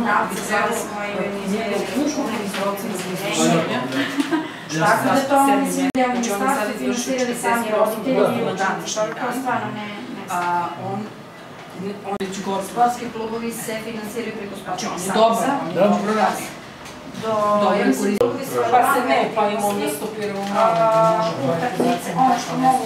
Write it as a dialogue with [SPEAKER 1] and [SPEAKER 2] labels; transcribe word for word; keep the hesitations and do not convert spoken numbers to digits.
[SPEAKER 1] komunalci, sada smo i organizirali učkovni proces izvršenja. Tako da to oni svi u ministarstvu finansirali sami roditelji i učenici, to stvarno ne znam. Sportski klubovi se finansiraju preko sportskog saveza.
[SPEAKER 2] Dobro radi.
[SPEAKER 1] Pa se ne, pa im onda stopiramo utakmice, ono što mogu